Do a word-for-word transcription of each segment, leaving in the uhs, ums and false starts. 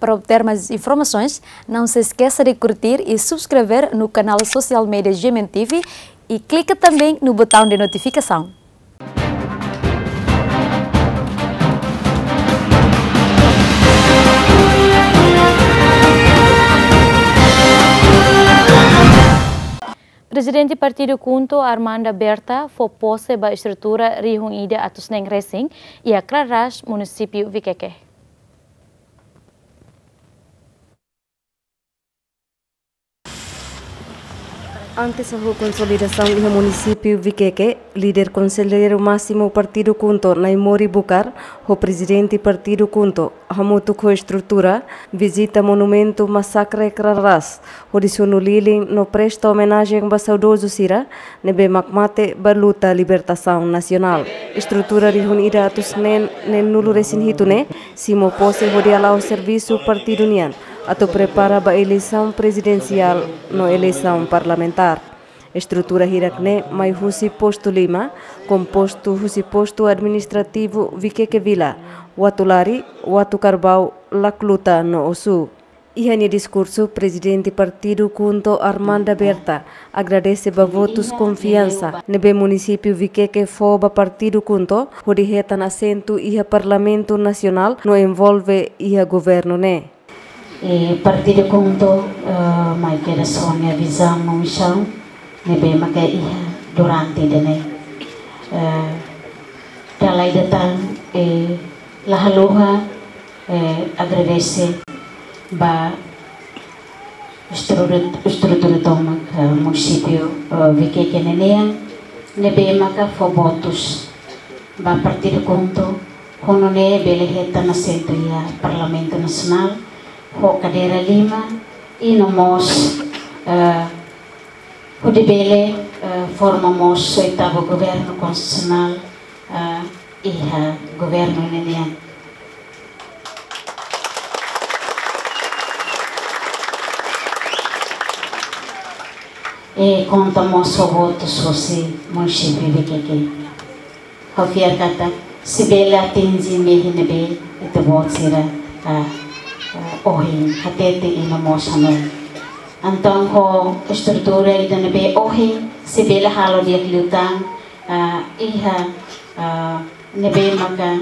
Para obter mais informações, não se esqueça de curtir e subscrever no canal social media G M N T V e clica também no botão de notificação. Prezidente Partidu KHUNTO, Armanda Berta, fó pose ba estrutura rihun ida atus neen resin iha Kraras, Munisípiu Vikeke. Antes hahú konsolidasaun iha Munisípiu Vikeke, Líder Konselleiru Másimu Partidu KHUNTO, Naimori Bucar, ho Prezidente Partidu KHUNTO, hamutuk ho estrutura, vizita monumentu masakre Kraras, hodi sunu lilin no presta omenajen ba saudozu sira ne'ebé mak mate ba luta libertasaun nasionál. Estrutura rihun ida atus neen neenulu resin hitu ne'e simu pose hodi hala'o servisu partidu nian atu prepara ba eleisaun prezidensiál no eleisaun parlamentár. Estrutura hirak-ne'e mai husi postu lima, kompostu husi postu administrativu Vikeke Vila, Watulari, Watu Karbau, Lakluta no Osu. Iha nia diskursu, Prezidente Partidu KHUNTO, Armanda Berta, agradese ba votus konfiansa ne'ebé Munisípiu Vikeke fó ba Partidu KHUNTO hodi hetan asentu iha Parlamentu Nasionál no envolve iha governu ne'e. E Partidu KHUNTO, eh, mai kedas ho nia vizaun no misaun ne'ebé maka iha durante ida-ne'e. Eh, dala ida tan, eh, la haluha, eh, agradese ba estrutura, estrutura tomak, eh, Munisípiu, eh, Vikeke ninian, ne'ebé maka fó votus ba Partidu KHUNTO, ho nune'e bele hetan asentu iha Parlamentu Nasionál, ho kadeira lima, i no mós, eh, hodi bele, eh, forma mós oitavu governu konstitusionál, eh, iha governu ninian. I konta mós ho votus husi Munisípiu Vikeke. Ha'u fiar katak sei bele atinje mehi ne'ebé ita-boot sira, ah, ah, ohin hatete i no mós hanoin. Entaun ho estrutura ida ne'ebé ohin sei bele halo di'ak liután, ah, iha, ah, ne'ebé maka,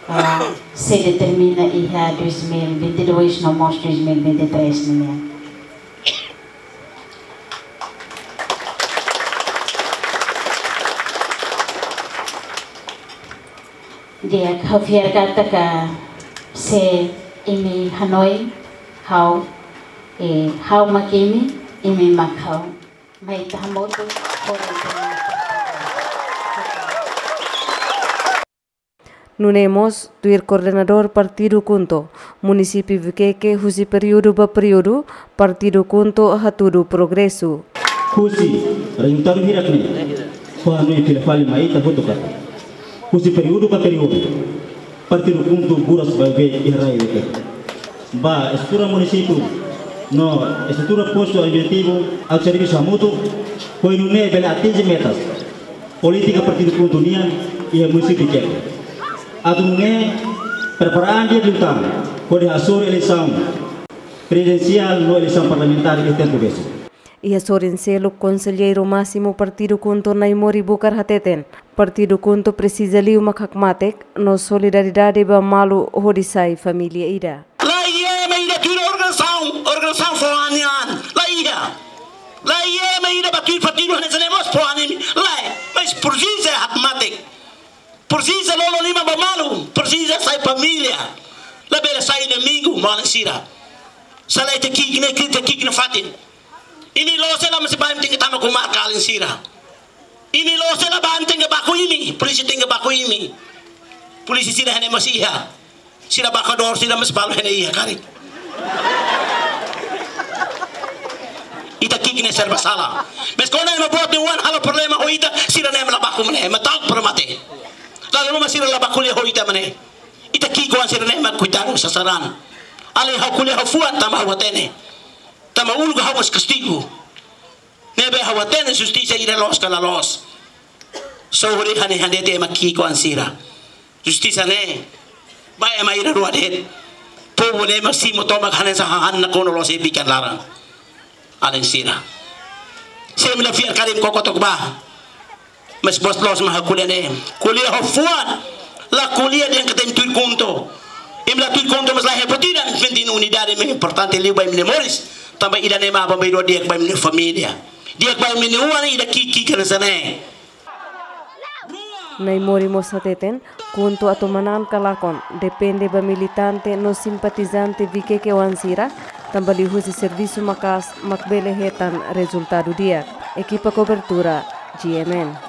ah, sei determina iha dois mil e vinte e dois no mós dois mil e vinte e três ninian. Di'ak, ha'u fiar katak se imi hanoin ha'u, eh, ha'u mak imi, imi mak ha'u. Mai ita hamutuk, hodi ita hamutuk. Nune'e mós, tuir koordenadór Partidu KHUNTO, Munisípiu Vikeke husi períodu ba períodu, Partidu KHUNTO hatudu progresu. Husi rezultadu hirak-ne'e, fó hanoin fila fali mai ita hotu katak, husi períodu ba períodu, Partidu KHUNTO buras ba be iha rai Vikeke. Ba estrutura munisípiu no estrutura postu administrativu, atu servisu hamutuk, hodi nune'e bele atinje metas polítika Partidu KHUNTO nian iha Munisípiu Vikeke. Atu nune'e prepara an di'ak liután hodi hasoru eleisaun prezidensiál no eleisaun parlamentár iha tempu besik. Iha sorin seluk, Konselleiru Másimu Partidu KHUNTO, Naimori Bucar hateten, Partidu KHUNTO presiza liu mak hakmatek no solidariedade ba malu hodi sai família ida. La iha ema ida tuir organizasaun, organizasaun fó an nian. La iha. La iha ema ida ba tuir partidu hanesan ne'e mós fó an imi. Lae, mas presiza hakmatek. Presiza lolo liman ba malu, presiza sai família. Labele sai inimigu, maun sira. Se lae ita ki'ik ne'e, ita ki'ik nafatin. Imi loos hela, mas bá imi tenke tama ku marka alin sira. Imi loos hela, bá imi tenke baku imi, polísia tenke baku imi. Polísia sira iha ne'e mós iha. Sira baku dor, sira mós balu iha ne'e iha karik. Ita ki'ik ne'e serba sala. Mas kuandu ema boot de'it halo problema ho ita, sira-ne'e mak la baku imi ne'e, ema ta'uk para mate. Dala ruma sira la baku ko'alia ho ita mak ne'e. Ita ki'ik kuandu sira-ne'e mak koitadu sasaran. Alin ha'u ko'alia ha'u fuan tanba ha'u hatene. Tanba uluk ha'u mós kastigu. Ne'ebé ha'u hatene justisa ida loos ka la loos. Só hodi hane hane te ema ki'ik kuandu sira. Justisa ne'e ba ema ida rua de'it. Povu ne'e mak simu tomak hanesan hahán nakonu loos iha bikan laran. Alin sira. Se imi la fiar karik imi koko took bá. Mas bos loos mak ha'u ko'alia ne'e. Ko'alia ho fuan. La ko'alia dehan katak imi tuir KHUNTO. Imi la tuir KHUNTO mas la iha buat ida, imi penting unidade mak importante liu ba imi-nia moris. Tanba ida-ne'e mak bá mai rua di'ak ba imi-nia família. Di'ak ba imi-nia oan ida ki'ik hanesan ne'e. Naimori mós hateten, KHUNTO atu manán ka lakon, depende ba militante no simpatizante Viqueque oan sira, tanba liuhusi servisu maka'as mak bele hetan rezultadu di'ak. Ekipa kobertura, G M N.